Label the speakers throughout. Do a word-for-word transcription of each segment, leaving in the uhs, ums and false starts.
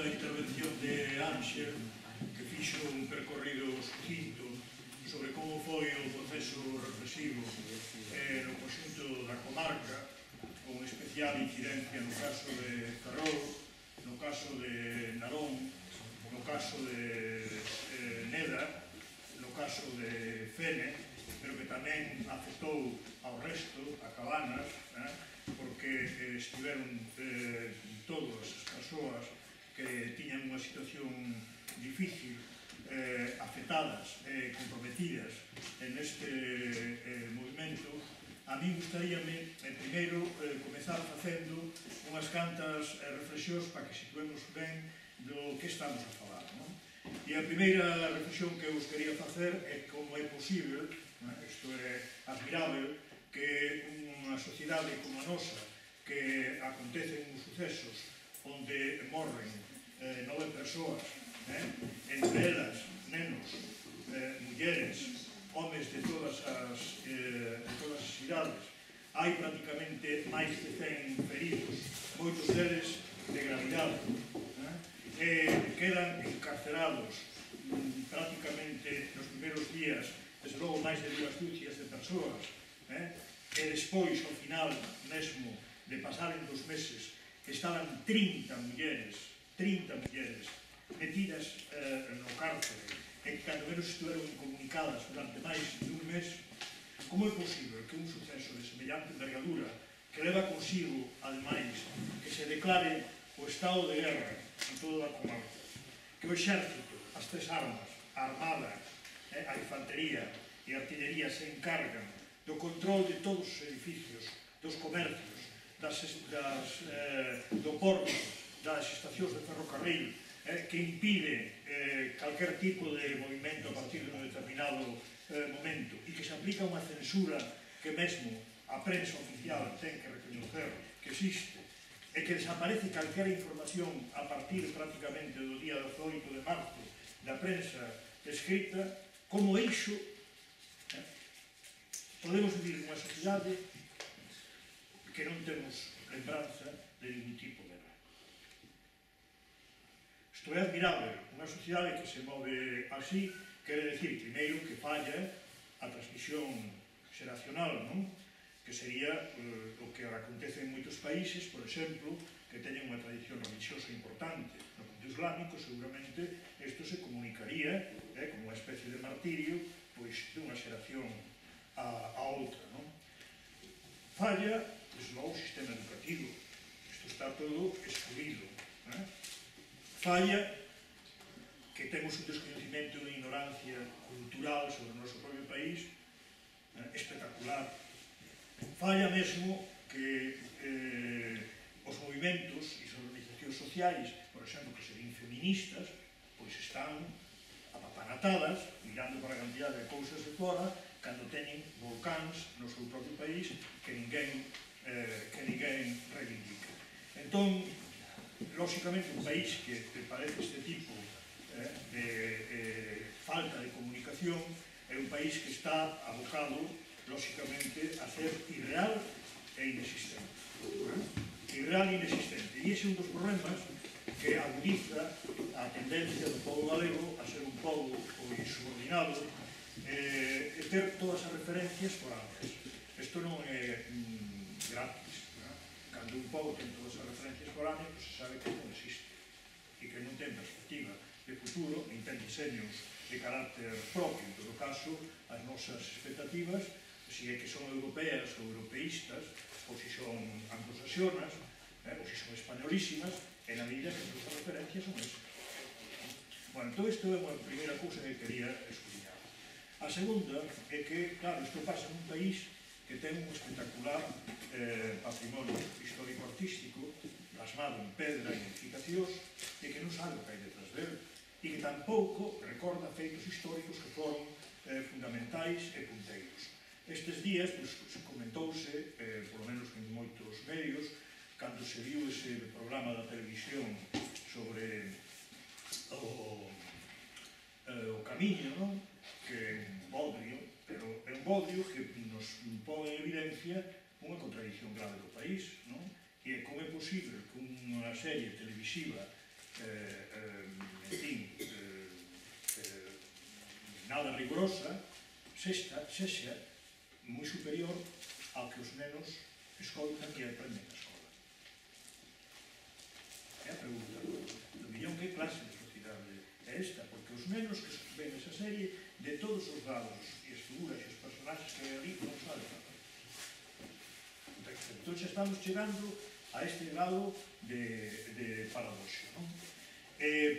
Speaker 1: a intervención de Ángel, que fixo un percorrido sucinto sobre como foi o proceso represivo eh, no conxunto da comarca, con especial incidencia no caso de Ferrol, no caso de Narón, no caso de eh, Neda, no caso de Fene, pero que tamén afectou ao resto, a Cabanas, eh, porque eh, estiveron eh, todas as persoas que tiñan unha situación difícil, eh, afectadas e eh, comprometidas en este eh, movimento. A mí gustaríame, eh, primeiro, eh, comezar facendo unhas cantas eh, reflexións para que situemos ben do que estamos a falar, non? E a primeira reflexión que eu vos quería facer é como é posible, isto é admirável, que unha sociedade como a nosa, que acontecen uns sucesos onde morren eh, nove persoas, eh, entre elas nenos, eh, mulleres, homes de todas as, eh, de todas as idades, hai prácticamente máis de cen feridos, moitos deles de gravidade, eh, eh, quedan encarcerados mm, prácticamente nos primeiros días, desde logo máis de dúas dúcias de persoas, eh, e despois, ao final mesmo de pasaren dos meses, estaban trinta mulleres, trinta mulleres metidas eh, no cárcere, e que cando menos estiveron incomunicadas durante máis de un mes. Como é posible que un suceso de semellante envergadura, que leva consigo, ademais, que se declare o estado de guerra en toda a comarca, que o exército, as tres armas, a armada, eh, a infantería e a artillería se encargan do control de todos os edificios, dos comercios, das, das, eh, do porto, das estacións de ferrocarril, eh, que impide eh, calquer tipo de movimento a partir de un determinado eh, momento, e que se aplica unha censura que mesmo a prensa oficial ten que reconocer que existe, e que desaparece calquera información a partir prácticamente do día dezoito de marzo da prensa escrita, como eixo, eh, podemos vivir nunha sociedade que non temos lembranza de ningún tipo de guerra. Isto é admirável. Unha sociedade que se move así quere decir, primeiro, que falla a transmisión xeracional, non? Que sería eh, o que acontece en moitos países, por exemplo, que teñen unha tradición religiosa importante. No mundo islámico, seguramente, isto se comunicaría eh, como unha especie de martirio, pois, dunha xeración a, a outra, non? Falla, desde logo, o sistema educativo. Isto está todo excluído. Eh? Falla que temos un desconhecimento e unha ignorancia cultural sobre o noso propio país eh, espectacular. Falla mesmo que eh, os movimentos e as organizacións sociais, por exemplo, que serían feministas, pois están apapanatadas, mirando para a cantidad de cousas de fora, cando teñen volcáns no seu propio país que ninguén, eh, que ninguén reivindica. Entón, lóxicamente, un país que te parece este tipo eh, de eh, falta de comunicación é un país que está abocado, lóxicamente, a ser irreal e inexistente. Eh? Irreal e inexistente. E ese é un dos problemas que agudiza a tendencia do povo galego a ser un povo subordinado eh, e ter todas as referencias foráneas. Isto non é mm, gratis. ¿No? Cando un povo ten todas as referencias foráneas, pues se sabe que non existe e que non ten perspectiva de futuro, nin ten diseños de carácter propio. En todo caso, as nosas expectativas, se é que son europeas ou europeístas, ou se son anglosaxonas, eh, ou se son españolísimas, e na medida que as nosas referencias son esas. Bueno, todo isto é unha primeira cousa que quería escudriñar. A segunda é que, claro, isto pasa nun país que ten un espectacular eh, patrimonio histórico-artístico plasmado en pedra e edificacións e que non sabe o que hai detrás dele e que tampouco recorda feitos históricos que foron eh, fundamentais e punteiros. Estes días, pues, se comentouse, eh, por lo menos en moitos medios, cando se viu ese programa da televisión sobre o, eh, o camiño, non? Que é un bodrio, pero é un bodrio que nos pon en evidencia unha contradición grave do país, non? E como é posible que unha serie televisiva en fin, nada rigorosa, sexa moi superior ao que os nenos escoitan e aprenden na escola. É a pregunta do millón: que clase de sociedade é esta? Porque os nenos que ven esa serie, de todos os lados e as figuras e os personaxes que hai ali, non saben nada. Entón xa estamos chegando a este grado de paradoxo.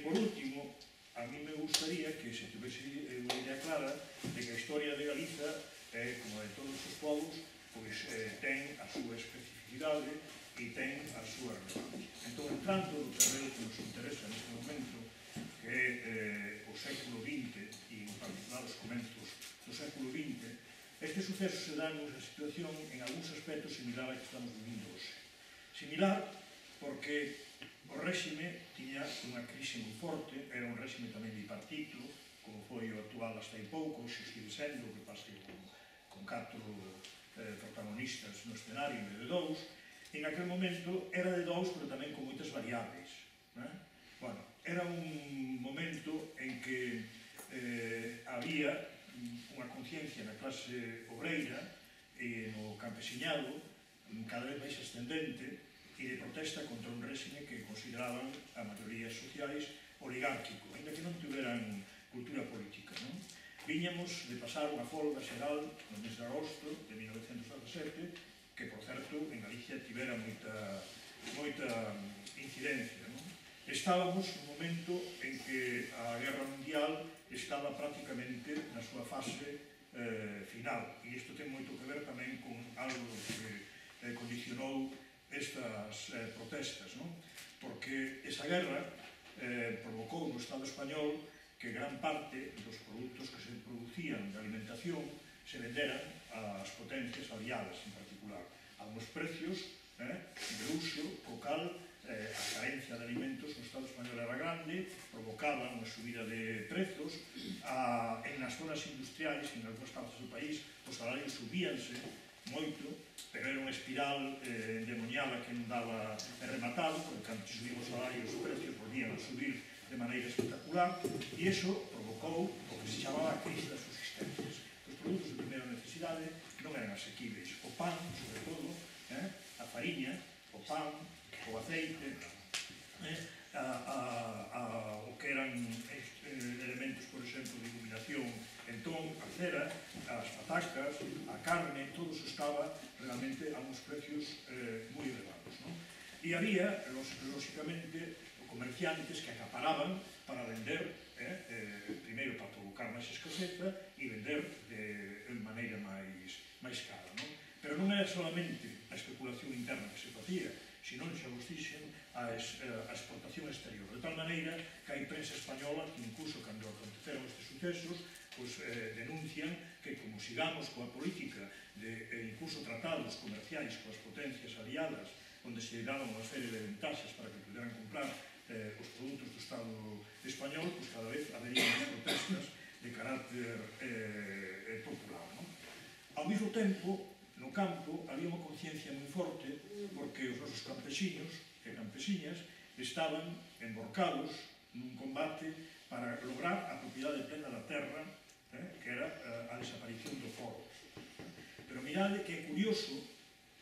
Speaker 1: Por último, a mí me gustaría que se tuvese unha idea clara de que a historia de Galiza, como a de todos os povos, ten a súa especificidade e ten a súa relevancia. Entón, entrando no terreno que nos interesa neste momento, que é o século vinte e en particular os comenzos do século vinte, este suceso se dá nunha situación en algúns aspectos similar a que estamos vivindo hoxe. Similar porque o réxime tiña unha crise moi forte, era un réxime tamén bipartito, como foi o actual hasta hai pouco, xe sigue sendo, que pase con catro protagonistas no escenario en vez de dous. En aquel momento era de dous, pero tamén con moitas variables. Bueno, era un momento en que había unha conciencia na clase obreira e no campesiñado cada vez máis ascendente e de protesta contra un réxime que consideraban a maiorías sociais oligárquico, ainda que non tiveran cultura política. Viñamos de pasar unha folga xeral no mes de agosto de mil novecentos dezasete, que, por certo, en Galicia tivera moita incidencia. Estábamos nun momento en que a Guerra Mundial estaba prácticamente na súa fase final, e isto ten moito que ver tamén con algo que condicionou estas protestas, porque esa guerra provocou no Estado español que gran parte dos produtos que se producían de alimentación se venderan ás potencias aliadas, en particular, a uns precios de uso co cal a carencia de alimentos no Estado español era grande, provocaba unha subida de prezos, en as zonas industriais, en algunhas partes do país, os salarios subíanse moito, pero era unha espiral endemoniada que non daba rematado, porque cando subían os salarios, os precios volvían a subir de maneira espectacular, e iso provocou o que se chamaba a crise das subsistencias. Os produtos de primeira necesidade non eran asequibles. O pan, sobre todo, a fariña, o pan, o aceite, o que eran elementos, por exemplo, de iluminación, entón, a cera, as patacas, a carne, todo iso estaba realmente a uns precios moi elevados. E había, lóxicamente, comerciantes que acaparaban para vender, primeiro para provocar máis escaseza e vender de maneira máis cara. Pero non era solamente a especulación interna que se facía, senón, xa vos dixen, a exportación exterior. De tal maneira que hai prensa española que incluso cando aconteceron estes sucesos denuncian que como sigamos coa política de incluso tratados comerciais coas potencias aliadas onde se daban unha serie de ventaxas para que puderan comprar os produtos do Estado español, pois cada vez habería máis protestas de carácter popular. Ao mesmo tempo, no campo había unha conciencia moi forte porque os nosos campesiños e campesiñas estaban emborcados nun combate para lograr a propiedade plena da terra, que era a desaparición do foro. Pero mirade que é curioso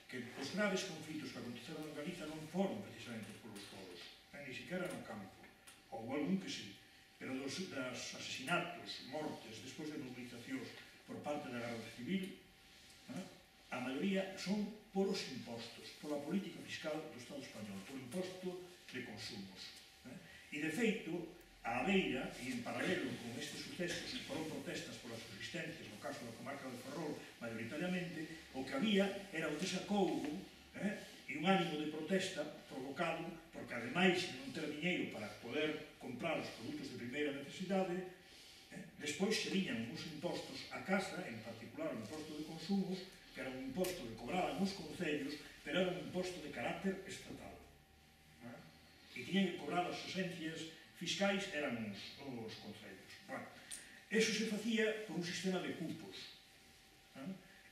Speaker 1: que os graves conflitos que aconteceron en Galiza non foron precisamente polos foros, ni siquiera no campo, ou algún que sí, pero dos asesinatos, mortes, despois de mobilizacións por parte da Garda Civil, a maioría son polos impostos, pola política fiscal do Estado español, polo imposto de consumos. E, de feito, a beira, e en paralelo con estes sucesos que foron protestas polas subsistencias, no caso da comarca de Ferrol, maioritariamente, o que había era o desacougo e un ánimo de protesta provocado porque, ademais de non ter diñeiro para poder comprar os produtos de primeira necesidade, despois se viñan uns impostos a casa, en particular o imposto de consumos, que era un imposto que cobraban os concellos, pero era un imposto de carácter estatal. E tiñan que cobrar as esencias fiscais, eran os concellos. Bueno, eso se facía por un sistema de cupos.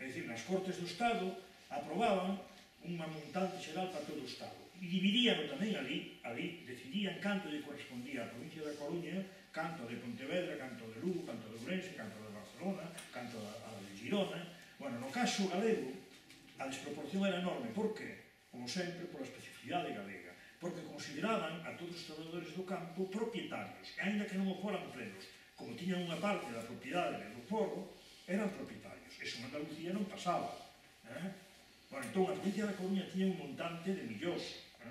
Speaker 1: É dicir, nas Cortes do Estado aprobaban unha montante xeral para todo o Estado. E e dividían tamén ali, ali, decidían canto lle correspondía a provincia da Coruña, canto de Pontevedra, canto de Lugo, canto de Ourense, canto de Barcelona, canto a de Girona. Bueno, no caso galego, a desproporción era enorme. Por qué? Como sempre, pola especificidade galega. Porque consideraban a todos os traballadores do campo propietarios, e ainda que non o foran plenos, como tiñan unha parte da propiedade do foro, eran propietarios. Eso en Andalucía non pasaba. Eh? Bueno, entón, a provincia da Coruña tiña un montante de millóns eh?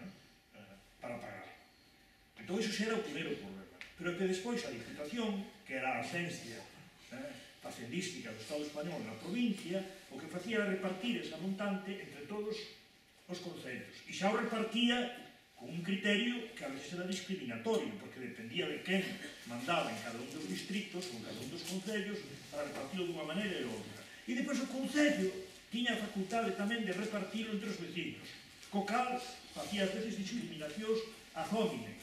Speaker 1: Eh, para pagar. Entón, iso xa era o primeiro problema. Pero que despois a Diputación, que era a esencia eh, facendística do Estado español na provincia, o que facía era repartir esa montante entre todos os concellos. E xa o repartía con un criterio que a veces era discriminatorio, porque dependía de quen mandaba en cada un dos distritos ou en cada un dos concellos para repartirlo dunha maneira e outra. E depois o concello tiña a facultade tamén de repartirlo entre os vecinos, co cal facía as veces discriminacións a homine.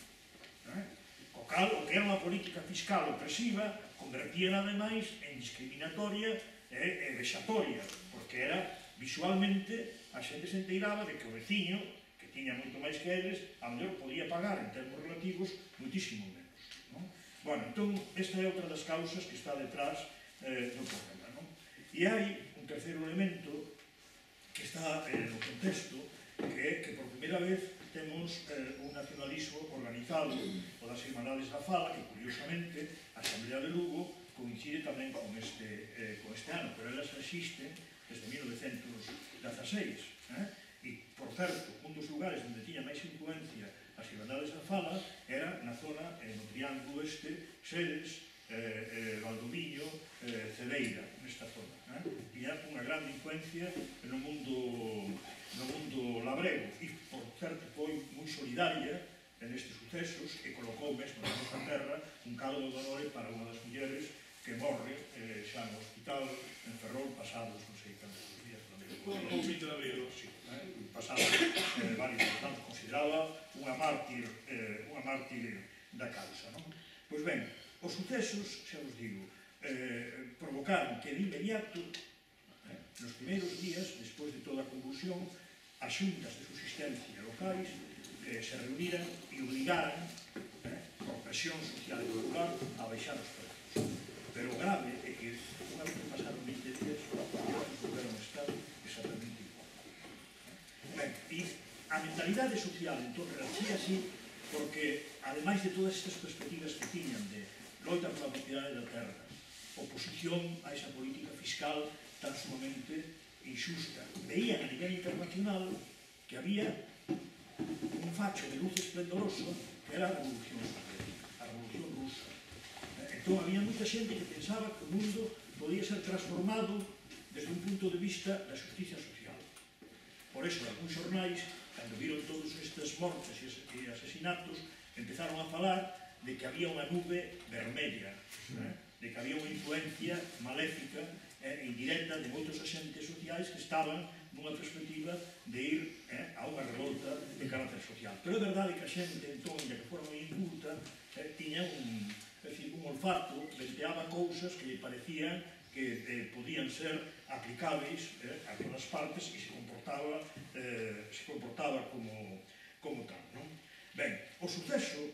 Speaker 1: Co cal, o que era unha política fiscal opresiva, convertía ademais en discriminatoria e vexatoria, porque era visualmente a xente se enteiraba de que o veciño, que tiña moito máis que eles, a mellor podía pagar en termos relativos muitísimo menos. Non? Bueno, entón, esta é outra das causas que está detrás eh, do problema. Non? E hai un terceiro elemento que está eh, no contexto, que é que por primeira vez temos eh, un nacionalismo organizado o das Irmandades da Fala, que curiosamente a Asamblea de Lugo coincide tamén con este, eh, con este ano, pero elas existen desde mil novecentos dezaseis. Eh? E, por certo, un dos lugares onde tiña máis influencia as Irmandades da Fala era na zona, eh, no triángulo este, Xeres, eh, eh, Valdoviño, eh, Cedeira, nesta zona. Eh? Tiña unha grande influencia no mundo, no mundo labrego e, por certo, foi moi solidaria nestes sucesos e colocou mesmo na nosa terra un caldo de honor para unha das mulleres que morre eh, xa no hospital en Ferrol pasados, non sei cantos días, ou vinte de abril, sí, eh, pasados eh, varios, portanto, consideraba unha mártir, eh, unha mártir da causa. Non? Pois ben, os sucesos, xa vos digo, eh, provocaron que de inmediato, eh, nos primeiros días, despois de toda a convulsión, as xuntas de subsistencia locais eh, se reuniran e obligaran, eh, por presión social e popular, a baixar os prezos. Pero o grave é que, unha vez que pasaron vinte días, os prezos volveron a estar exactamente igual. Ben, e a mentalidade social, entón, reacía así, porque, ademais de todas estas perspectivas que tiñan de loita pola propiedade da terra, oposición a esa política fiscal tan sumamente injusta, veían a nivel internacional que había un facho de luz esplendoroso que era a Revolución Soviética, a Revolución Rusa. Entón, había moita xente que pensaba que o mundo podía ser transformado desde un punto de vista da justicia social. Por eso, algúns xornais, cando viron todos estes mortes e asesinatos, empezaron a falar de que había unha nube vermella, de que había unha influencia maléfica e indirecta de moitos agentes sociais que estaban nunha perspectiva de ir eh, a unha revolta de carácter social. Pero é verdade que a xente, entón, ya que fora moi inculta, eh, tiña un, é dicir, un olfato, venteaba cousas que lle parecían que eh, podían ser aplicáveis eh, a todas partes e se comportaba, eh, se comportaba como, como tal. Non? Ben, o suceso,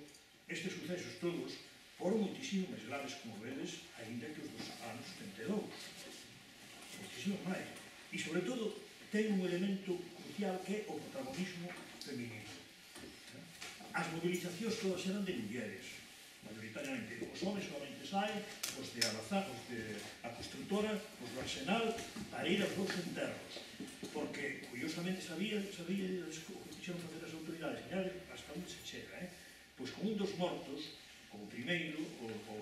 Speaker 1: estes sucesos todos, foron moitísimo máis graves, como vedes, ainda que os dos anos setenta e dous. Moitísimo máis. E, sobre todo, ten un elemento crucial que é o protagonismo feminino. As movilizacións todas eran de mulleres, mayoritariamente. Os homens solamente saen, os de Alazá, os de a constructora, os do Arsenal, para ir aos dous enterros. Porque, curiosamente, sabía, sabía o que quixeron facer as autoridades, e hasta onde se chega, eh? Pois con un dos mortos, como primeiro, o, o,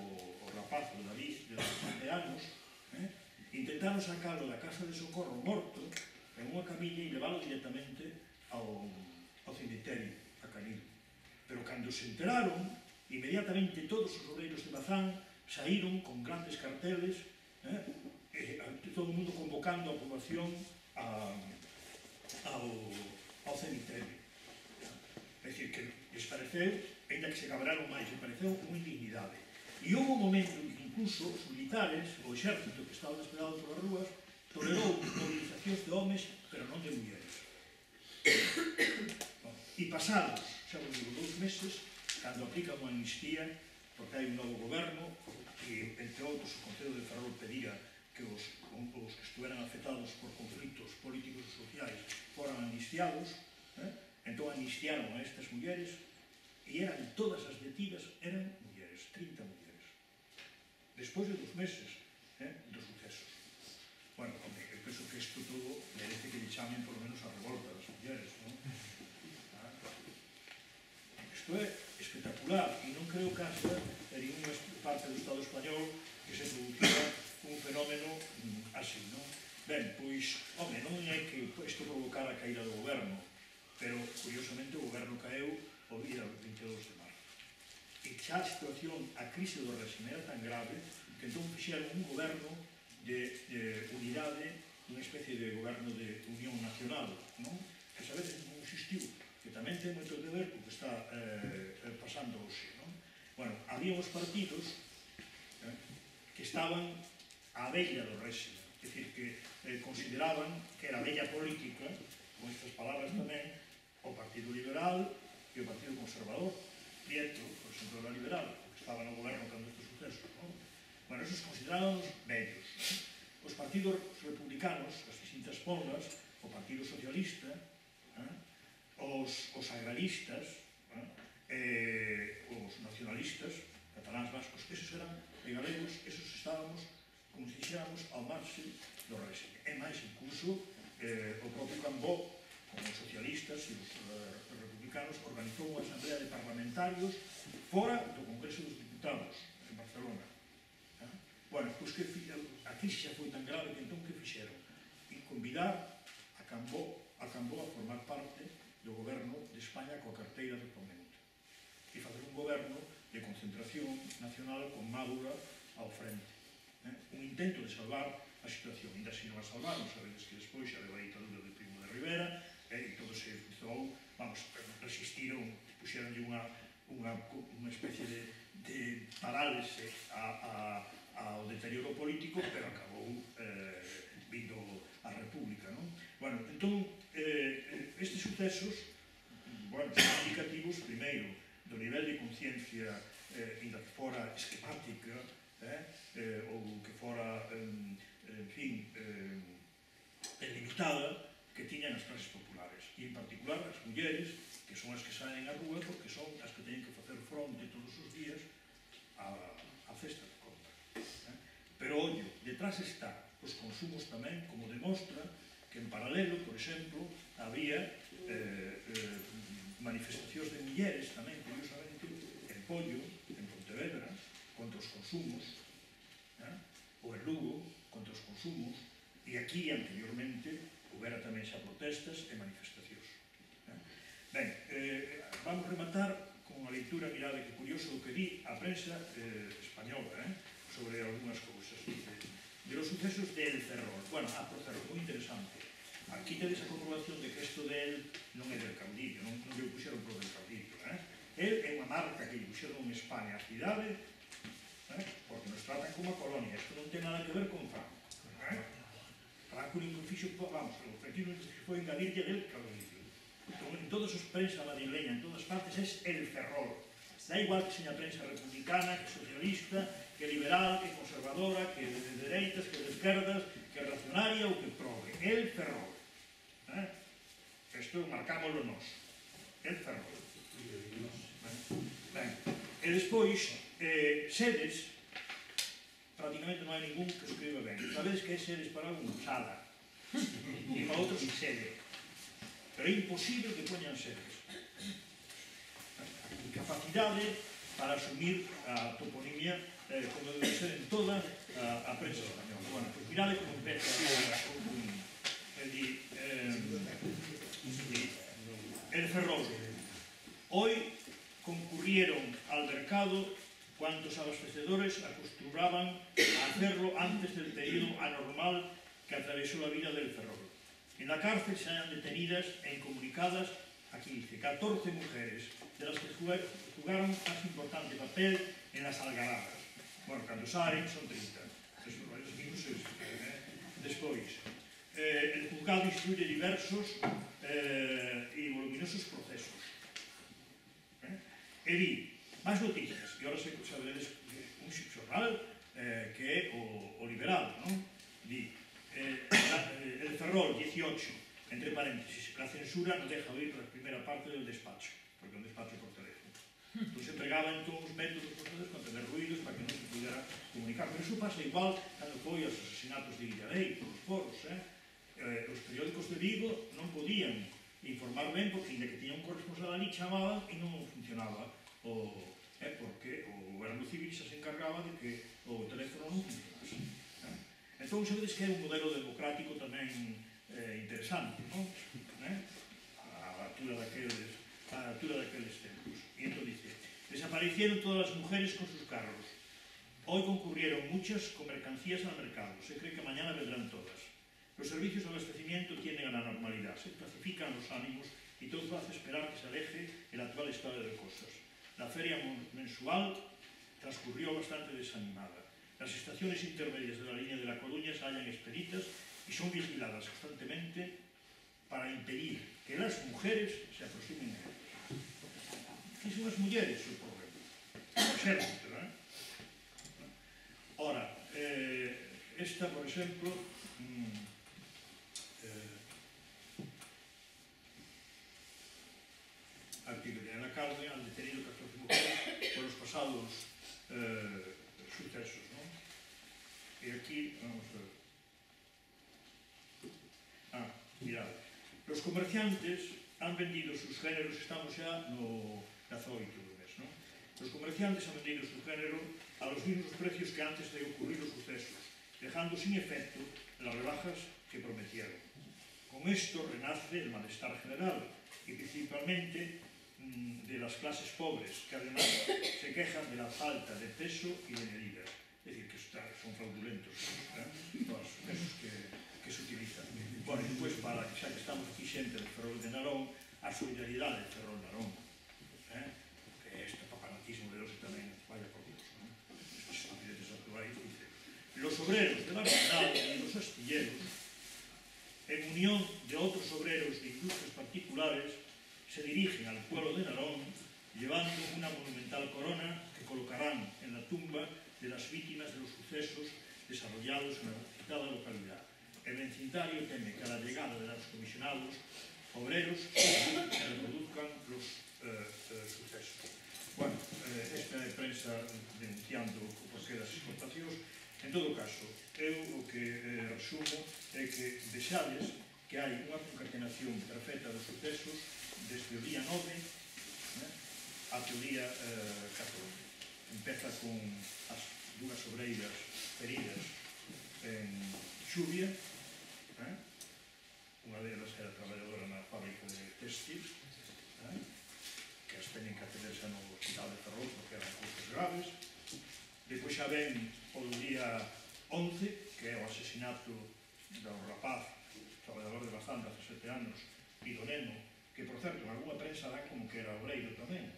Speaker 1: o rapaz, o David, de dezasete anos, eh? intentaron sacalo da casa de socorro morto en unha camilla e leválo directamente ao, ao cemiterio, a Canil. Pero cando se enteraron, inmediatamente todos os obreiros de Bazán saíron con grandes carteles, eh? e todo o mundo convocando a poboación a, ao, ao cemiterio. É dicir, que les pareceu, ainda que se cabraron máis, les pareceu unha indignidade. E houve un momento en que incluso os militares, o exército que estaba desplegado polas rúas, tolerou movilizacións de homes, pero non de mulleres. Bueno, E pasados, xa vos digo, dous meses, cando aplican unha amnistía, porque hai un novo goberno, e, entre outros, o Concello de Ferrol pedía que os, os que estuveran afectados por conflitos políticos e sociais foran amnistiados, eh? Entón amnistiaron a estas mulleres, e eran todas as detidas, eran mulleres, trinta mulleres. Despois de dos meses eh, dos sucesos. Bueno, eu penso que isto todo merece que lle chamen por lo menos a revolta das mulleres, non? Isto é espectacular, e non creo que haxa en ninguna parte do Estado español que se producira un fenómeno así, non? Ben, pois, home, non é que isto provocara a caída do goberno, pero, curiosamente, o goberno caeu o día vinte e dous de marzo. E xa a situación, a crise do réxime era tan grave que entón fixeron un goberno de, de unidade, unha especie de goberno de unión nacional, non? Que a veces non existiu, que tamén ten moito que ver co que está eh, pasando hoxe, non? Bueno, había uns partidos eh, que estaban á veilla do réxime, é dicir, que eh, consideraban que era a veilla política, con estas palabras tamén, o Partido Liberal e o Partido Conservador. Prieto, por exemplo, era liberal, porque estaba no goberno cando estes sucesos, non? Bueno, esos consideraban vellos. Os partidos republicanos, as distintas ponlas, o Partido Socialista, eh, os, os agraristas, eh, eh, os nacionalistas, cataláns, vascos, esos eran, e galegos, esos estábamos, como se dixéramos, ao marxe do réxime. E máis, incluso, eh, o propio Cambó, como os socialistas e os uh, republicanos, organizou unha asamblea de parlamentarios fora do Congreso dos Diputados, en Barcelona. Eh? Bueno, pois que a crise xa foi tan grave que entón que fixeron? E convidar a Cambó a, Cambó a formar parte do goberno de España coa carteira de Ponente. E facer un goberno de concentración nacional con Madura ao frente. Eh? Un intento de salvar a situación. Ainda se non a salvaron, sabedes que despois xa leva a ditadura de Primo de Rivera, e todo se fizou, vamos, resistiron, puxeronlle unha, unha, unha especie de, de parálise a, a, ao deterioro político, pero acabou eh, vindo a República, non? Bueno, entón, eh, estes sucesos, bueno, son indicativos, primeiro, do nivel de conciencia, eh, ainda que fora esquemática, eh, eh, ou que fora, eh, en fin, eh, limitada, que tiñan as clases populares, e en particular as mulleres, que son as que saen á rúa porque son as que teñen que facer fronte todos os días a, a cesta de compra. Eh? Pero, ollo, detrás está os consumos tamén, como demostra que en paralelo, por exemplo, había eh, eh, manifestacións de mulleres tamén, curiosamente, en Pollo, en Pontevedra, contra os consumos, eh? ou en Lugo, contra os consumos, e aquí, anteriormente, houbera tamén xa protestas e manifestacións. Ben, eh, vamos rematar con unha leitura, mirade que curioso o que di a prensa eh, española eh, sobre algunhas cousas. De los sucesos de El Ferrol. Bueno, ah, por cerro, moi interesante. Aquí tedes a comprobación de que isto de El non é del caudillo, non, non lle puxeron pro del caudillo. Eh? El é unha marca que lle puxeron en España a cidade, eh, porque nos tratan como a colonia. Isto non ten nada que ver con Franco. Eh? Franco non fixo, vamos, o objetivo foi engadirlle del caudillo. En todos os prensa madrileña, en todas partes, es El Ferrol. Da igual que seña prensa republicana, que socialista, que liberal, que conservadora, que de dereitas, que de esquerdas, que racionaria ou que progre. El Ferrol. Eh? Isto marcámoslo nós. El Ferrol. Ben. E despois, eh, Sedes, prácticamente non hai ningún que escriba ben. Sabedes que é Sedes para un sala, e para outros sede. Pero é imposible que poñan Sedes. Incapacidade para asumir a toponimia eh, como debe ser en toda a, a prensa española. Bueno, pues mirade como empeza a toponimia. É di, eh, El Ferrol. Hoy concurrieron al mercado cuantos abastecedores acostumbraban a hacerlo antes del periodo anormal que atravesó la vida del Ferrol. En la cárcel se hallan detenidas e incomunicadas, aquí dice, catorce mujeres, de las que jugaron más importante papel en las algaradas. Bueno, cando saen son trinta. Despois, el juzgado instruye diversos e voluminosos procesos. E di, máis noticias, e ahora saberedes un xornal que é o Liberal, di, el Ferrol dieciocho, entre paréntesis, la censura no deja oír la primera parte del despacho, porque é un despacho por teléfono. Entón se empregaban todos os métodos para tener ruidos para que non se pudera comunicar. Pero iso pasa igual cando foi os asesinatos de Illarei por os foros. Os periódicos de Vigo non podían informar ben porque ainda que tiña un corresponsal ali chamaban e non funcionaba porque o goberno civil xa se encargaba de que o teléfono non funcionase. Entón sabedes que é un modelo democrático tamén interesante, non? A altura daqueles a altura daqueles tempos. E entón dice, desaparecieron todas las mujeres con sus carros. Hoy concurrieron muchas con mercancías al mercado. Se cree que mañana vendrán todas. Los servicios de abastecimiento tienden a la normalidad. Se pacifican los ánimos y todo hace esperar que se aleje el actual estado de cosas. La feria mensual transcurrió bastante desanimada. Las estaciones intermedias de la línea de La Coruña se hallan expeditas y son vigiladas constantemente para impedir que las mujeres se aproximen a ellos. ¿Qué son las mujeres? El problema. Por ejemplo, ¿eh? Ahora, eh, esta, por ejemplo, mmm, eh, artículo en la cárcel han detenido catorce mujeres por los pasados eh, sucesos, ¿no? Y aquí, vamos a ver. Ah, mirad. Los comerciantes han vendido sus géneros, estamos ya no cazoito do mes, non? Los comerciantes han vendido su género a los mismos precios que antes de ocurrir los sucesos, dejando sin efecto las rebajas que prometieron. Con esto renace el malestar general y principalmente mmm, de las clases pobres, que además se quejan de la falta de peso y de medidas. Es decir, que son fraudulentos, ¿eh? Todos los pesos que, que se utilizan. Bueno, e despois, para xa que estamos aquí xente del Ferrol de Narón, a solidaridade del Ferrol de Narón, eh? Que este papanatismo de Deus tamén vaya por Dios, ¿no? Estos estupideces actuais, dice, los obreros de la verdad y los astilleros, en unión de otros obreros de industrias particulares, se dirigen al pueblo de Narón llevando una monumental corona que colocarán en la tumba de las víctimas de los sucesos desarrollados en la citada localidad. El vecindario teme que a la llegada de los comisionados obreros se reproduzcan los eh, eh, sucesos. Bueno, eh, esta é prensa denunciando o porqué das exportacións. En todo caso, eu o que eh, resumo é que vexades que hai unha concatenación perfecta dos sucesos desde o día nove eh, até o día eh, catorce. Empeza con as dúas obreiras feridas en Xuvia. Eh? Unha delas era traballadora na fábrica de textil, eh? que as teñen que atenderse no hospital de Ferrol porque eran causas graves. Depois xa ven o día once, que é o asesinato do rapaz, traballador de Bazán, de dezasete anos, e do neno, que por certo, en alguna prensa dan como que era obreiro tamén.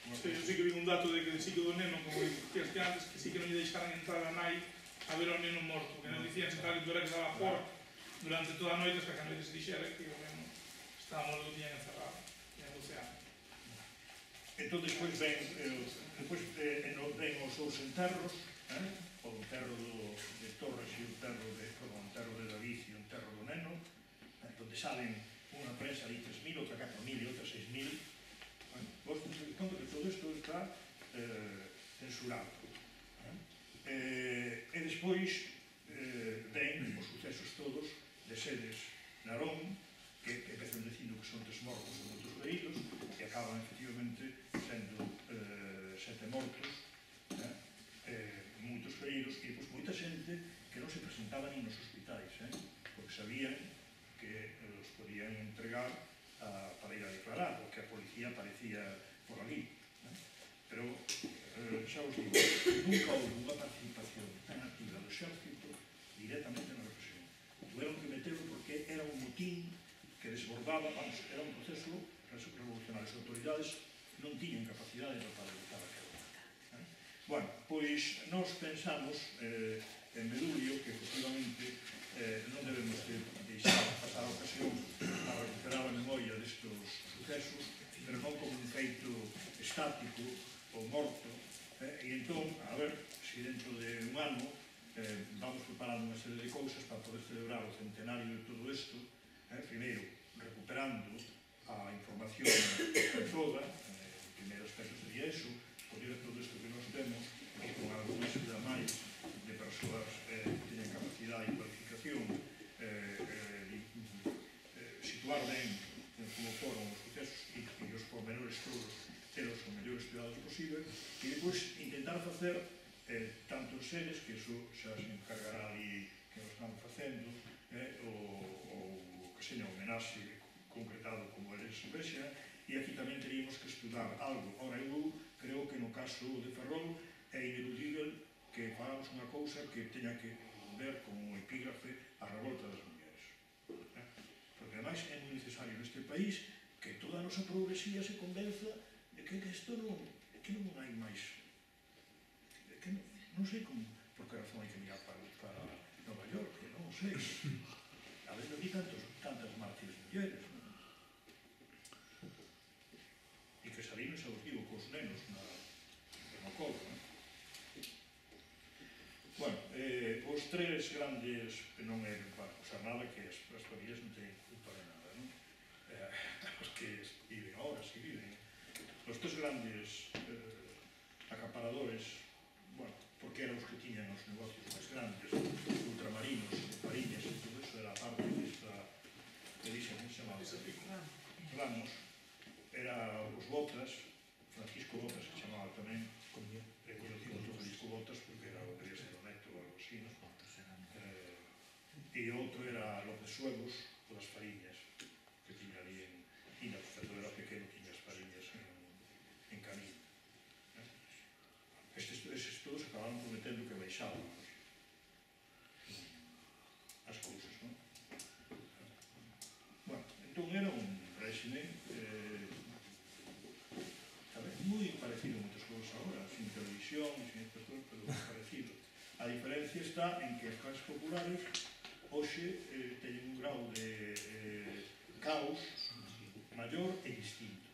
Speaker 2: Sí, eu sí que vi un dato de que sí que do neno, como dicías que antes, que sí que non lle deixaran entrar a nai a ver ao neno morto, que non dicían se tal que era que estaba fora durante toda a noite hasta que a noite se dixera que o neno estaba morto, tiñan encerrado, tiñan doce anos.
Speaker 1: Entón, despois ven, eh, despois eh, ven os dous enterros, eh? O enterro do, de Torres e o enterro de, perdón, o enterro de David e o enterro do neno, eh, donde salen unha prensa de tres mil, outra catro mil e outra seis mil. Bueno, vos tenéis conta que todo isto está eh, censurado. Eh? Eh, e despois eh, ven os sucesos todos de sedes Narón, que, que empezan dicindo que son tres mortos e moitos feridos, e acaban efectivamente sendo eh, sete mortos, eh, eh, moitos feridos, e pois moita xente que non se presentaba nin nos hospitais, eh, porque sabían que eh, os podían entregar a, para ir a declarar, porque a policía aparecía por ali. Eh. Pero, eh, xa os digo, nunca houve unha participación tan activa do exército directamente na represión. Tuvieron que meterlo porque era un motín que desbordaba, vamos, era un proceso revolucionario. As autoridades non tiñan capacidade para evitar aquilo. Eh? Bueno, pois nós pensamos, eh, en Medulio, que efectivamente eh, non debemos de deixar pasar a ocasión a recuperar a memoria destes sucesos, pero non como un feito estático ou morto, eh, e entón, a ver, se dentro de un ano eh, vamos preparando unha serie de cousas para poder celebrar o centenario de todo isto, eh, primeiro, recuperando a información en toda, eh, o primeiro aspecto sería eso, poder todo isto que nos temos, e con alguna axuda máis de persoas eh, que teñen capacidade e cualificación, eh, eh, eh, situar ben como foron os sucesos e, e os pormenores todos telos o mellor estudados posible, e depois intentar facer eh, tantos seres, que iso xa se encargará ali que nos están facendo, eh, o, o que seña homenaxe concretado como eles vexan, e aquí tamén teríamos que estudar algo. Ora, eu creo que no caso de Ferrol é ineludible que fagamos unha cousa que teña que ver como epígrafe a revolta das mulleres. Eh? Porque ademais é moi necesario neste país que toda a nosa progresía se convenza de que isto non, que non hai máis, de que non, non sei como, por que razón hai que mirar para, para Nova York, que non sei. A ver, non vi tantos, tantas mártires mulleres, non? E que salían exhaustivos cos nenos na, no colo, non? Bueno, eh, os tres grandes, que non é para acusar nada, que as, as familias non teñen culpa de nada, non? Eh, os que viven ahora, si viven. Os tres grandes eh, acaparadores, bueno, porque eran os que tiñan os negocios máis grandes, ultramarinos, mariñas, e todo eso era parte desta, que dixen, como se chamaba? Ramos. Era os Botas, Francisco Botas, que chamaba tamén, e conocido outro Francisco Botas, porque era o que ser o neto ou algo así, non? E outro era López Suegos, o das Fariñas, que tiña ali en, e cando era pequeno tiña as Fariñas en, en Camín. Estes, estes todos acabaron prometendo que baixaban as cousas, non? Bueno, entón era un réxime eh, moi parecido a moitas cousas agora, sin televisión, sin estas cousas, pero moi parecido. A diferencia está en que as clases populares hoxe eh, teñen un grau de eh, caos maior e distinto.